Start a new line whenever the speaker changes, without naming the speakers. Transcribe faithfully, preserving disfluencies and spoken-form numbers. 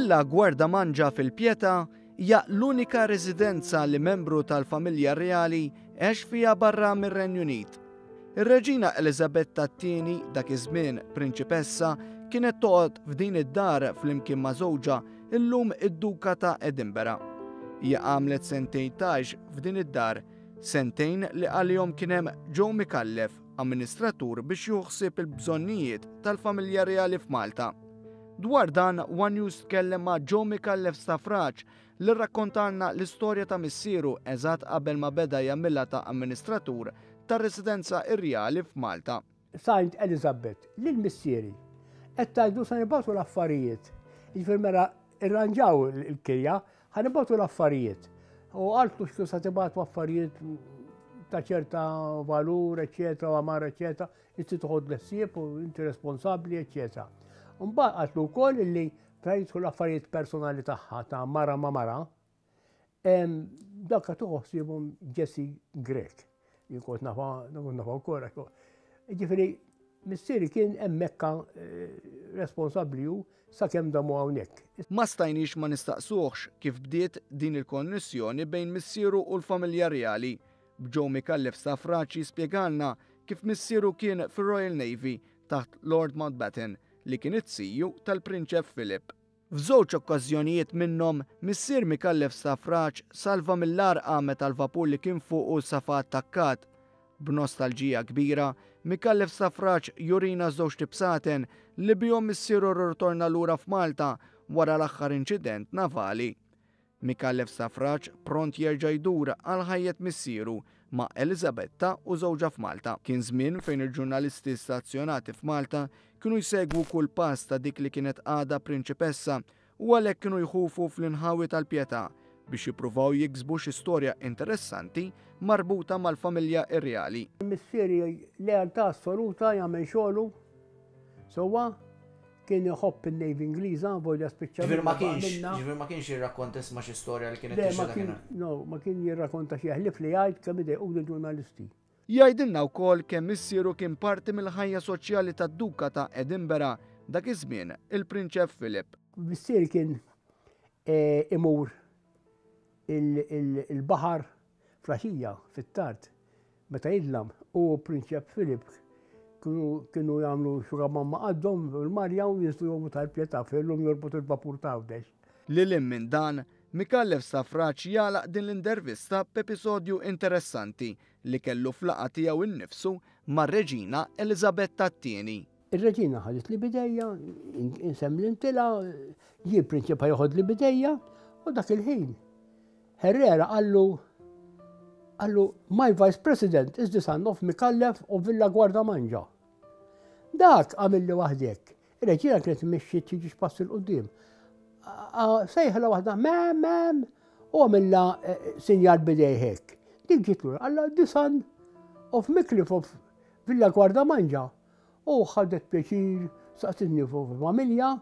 Villa Gwardamanġa fil-Pietà hija l-unika residenza li membru tal-familja reali għex fiha barra mir-Renju Unit. Ir-Reġina Eliżabetta t-tieni, dak iż-żmien prinċipessa, kienet toqgħod f'din id-dar flimkien ma' żewġha, illum id-Duka ta' Edinburgh. Hija għamlet sentejn tgħix f'din id-dar, sentejn li għalihom kien hemm Joe Micallef, amministratur biex jieħu ħsieb il-bżonnijiet tal-familja reali f'Malta. Dwar dan, One News tkellem ma' Joe Micallef Stafrace li rrakkontalna l-istorja ta' missieru eżatt qabel ma beda jagħmilha ta' amministratur tar-residenza irjali f'Malta.
Saint Elizabeth, lil missieri, qed tgħidu sa nibagħtu l-affarijiet. Jiġifieri mela irranġaw il-kirja, ħa nibagħtu l-affarijiet. U qaltlu x'tu sa tibagħtu affarijiet ta' ċerta valur, eċetera, u għamar, eċetera, inti toħod l-ħsieb u inti responsabbli, eċetera. Mbagħad qaltlu wkoll illi fejn jidħlu l-affarijiet personali tagħha ta' mara ma' mara, dak tieħu ħsiebhom Jessie Grech. Jien kont nafa, kont nafa wkoll. Ġifieri, missieri kien hemmhekk eh, responsabbli hu sakemm damu hawnhekk.
Ma stajniex ma nistaqsuhx kif bdiet din il-konnessjoni bejn missieru u l-familja reali. B'Joe Micallef Stafrace spjegalna kif missieru kien fir-Royal Navy taħt Lord Mountbatten, li kien it-siju tal-Prinċep Philip. F'żewġ okkażjonijiet minnhom, missier Micallef Stafrace salva mill-għarqa meta l-vapur li kien fuqu safa attakkat. B'nostalġija kbira, Micallef Stafrace jurina żewġt ibsaten li bihom missieru rritorna lura f'Malta wara l-aħħar inċident navali. Micallef Stafrace pront jerġa' jdur għal ħajjet missieru ma' Elizabetta u żewġha f'Malta. Kien żmien fejn il-ġurnalisti stazzjonati f'Malta kienu jsegwu kull pass ta' dik li kienet għadha prinċipessa u għalhekk kienu jħufu fl-inħawi tal-Pietà biex jippruvaw jiksbu xi storja interessanti marbuta mal-familja irjali.
Missieri lealtà assoluta, jagħmel xogħlu sewwa, kien iħobb il-Navy Ingliża, volja spiċċa.
Ġifieri ma kienx, ġifieri ma kienx jirrakkonta isma' xi storja li kienet
Le, ma kien, no, ma kien jirrakkonta xi ħlief li jgħid kemm idejqu l-ġurnalisti.
Jgħidilna wkoll kemm missieru kien parti mill-ħajja soċjali tad-Duka ta' Edinburgh dak iż-żmien, il-Prinċep Philip.
Missieri kien eh, imur il-baħar flaxija fit-tard meta jidlam u Prinċep Philip kienu jagħmlu xuga mamma għaddhom il-marja u jinżlu jgħumu tal-Pietà fillum jorbot il-vapur ta' Għawdex.
Lil hinn minn dan, Micallef Stafrace jagħlaq din l-intervista b'episodju interessanti li kellu f'laqgħa tiegħu innifsu mar-Reġina Eliżabetta t-tieni.
Ir-Reġina ħadet li bidejja, insem l-intila, ġie prinċip joħod li bidejja, u dak il-ħin. Herrera qallu, qallu, "My vice president is the son of Micallef of Villa Gwardamanġa." Dak għamilli waħdek. Ir-reġina kienet mixi tiġi pass 'il quddiem. Sejħla waħda, "Ma'am, ma'am," u għamilla eh, sinjal bidejhek. Dik ġiet lura, qalla, "The son of Micallef of Villa Gwardamanġa." U ħadet pjaċir, saqsitni fuq familja.